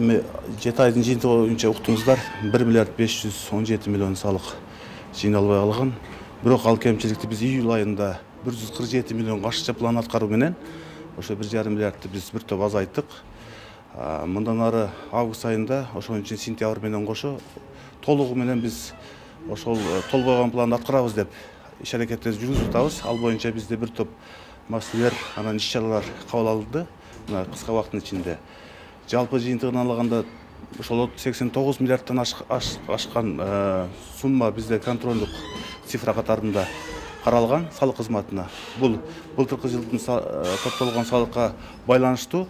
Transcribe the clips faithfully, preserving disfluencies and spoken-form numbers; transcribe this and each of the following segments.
Эми жети айдын жыйынтыгы боюнча уктуңуздар бир миллиард беш жүз он жети миллион салык жыйналбай калган. Бирок ал кемчиликти биз июль айында бир жүз кырк жети миллион кошумча план аткаруу менен ошо бир жарым миллиардты биз бир топ азайттык. Мындан ары август айында ошон үчүн сентябрь менен кошо толугу менен биз ошол толбогон планды аткарабыз деп иш аракеттерди жүргүзүп атабыз. Ал боюнча бизде бир топ маселелер анан иш чаралар кабыл алынды мына кыска убакыттын ичинде. Жалпы жыйынтыгын алганда ошол сексен тогуз миллиардтан ашкан сумма бизде контролдук цифра катарында каралган салык кызматына. Бул былтыркы жылдын топтолгон салыкка байланыштуу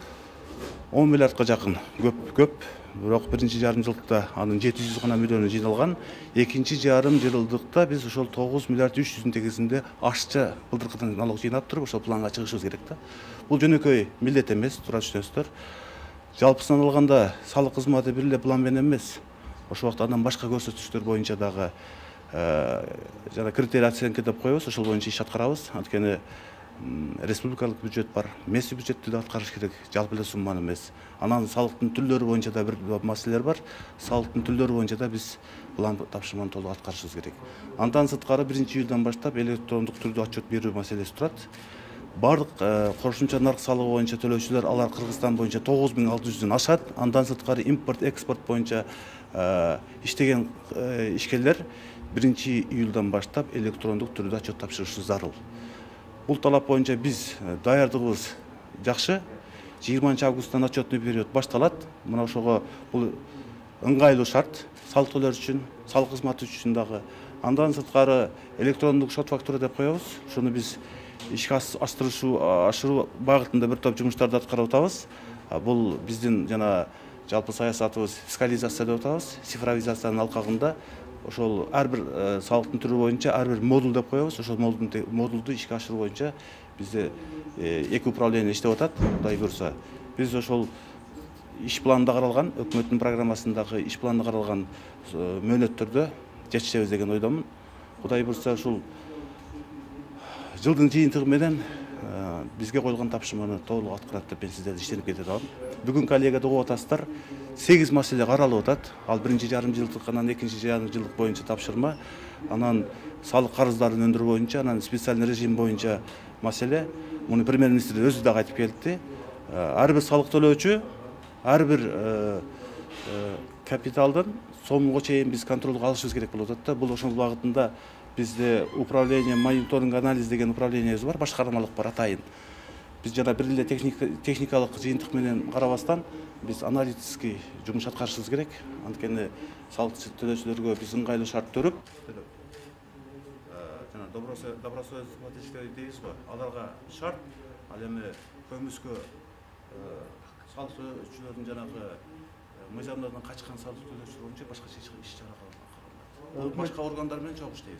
он миллиардка жакын көп көп. Бирок биринчи жарым жылдыкта анын жети жүз гана миллиону жыйналган. Экинчи жарым жылдыкта биз ошол тогуз миллиард үч жүздүн тегисинде ашча былтыркыдан налог жыйнап туруп ошол планга чыгышыбыз керек да. Бул жөнөкөй милдет эмес, туура түшүнөсүздөр. Жалпысынан алганда салык кызматы бир эле план менен эмес. Ошол убакта андан башка көрсөтүчтөр боюнча дагы жана критерий оценка деп коебуз, ошол боюнча иш аткарабыз. Анткени республикалык бюджет бар, месси бюджетти да аткарыш керек, жалпы эле сумманы эмес. Анан салыктын түрлөрү боюнча да бир маселелер бар. Салыктын түрлөрү боюнча да биз план тапшырманы толук аткарышыбыз керек. Андан сырткары биринчи июлдан баштап электрондук түрдө отчет берүү маселеси турат. Бардык кошумча нарк салыгы боюнча төлөөчүлөр алар Кыргызстан боюнча тогуз миң алты жүздөн ашат. Андан сырткары импорт, экспорт боюнча иштеген ишкерлер биринчи июлдан баштап электрондук түрдө отчет тапшырышы зарыл. Бул талап боюнча биз даярдыгыбыз жакшы. жыйырманчы августтан отчетный период башталат. Мына ошого бул ыңгайлуу шарт салык төлөөчүлөр үчүн, салык кызматы үчүн дагы. Андан сырткары электрондук шот фактура деп коебуз. Шуну биз ишке аштыруу ашыруу багытында бир топ жумуштарды аткарып атабыз. Бул биздин жана жалпы саясатыбыз фискализация деп атабыз. Цифровизациянын алкагында ошол ар бир салыктын түрү боюнча ар бир модуль деп коебуз. Ошол модулду ишке ашыруу боюнча бизде эки управление иштеп атат. Кудай көрсө, биз ошол иш планында каралган, өкмөттүн программасындагы иш планында каралган мөөнөттөрдө жетишебиз деген ойдомун. Кудай көрсө, ушул жылдын жыйынтыгы менен бизге коюлган тапшырманы толук аткарат деп мен сиздерди иштенип кете атам. Бүгүн коллегада угуп атасыздар, сегиз маселе каралып атат. Ал биринчи жарым жылдык, анан экинчи жарым жылдык боюнча тапшырма, анан салык карыздарын өндүрүү боюнча, анан специальный режим боюнча маселе. Муну премьер-министр өзү дагы айтып келди. Ар бир салык төлөөчү, ар бир капиталдын сомуга чейин биз контролго алышыбыз керек болуп атат да. Бул ошол багытында бизде управление мониторинг анализ деген управлениебиз бар, башкармалык бар атайын. Биз жана бир эле техникалык жыйынтык менен карабастан биз аналитический жумуш аткарышыбыз керек. Анткени салык төлөөчүлөргө биз ыңгайлуу шарт төрүп, жана добросовестный дейбиз го, аларга шарт, ал эми көмүскө салык төлөөчүлөрдүн жанагы мыйзамдардан качкан салык төлөөчүлөр боюнча башкача иш чара каралат. Башка органдар менен чогуу иштейбиз.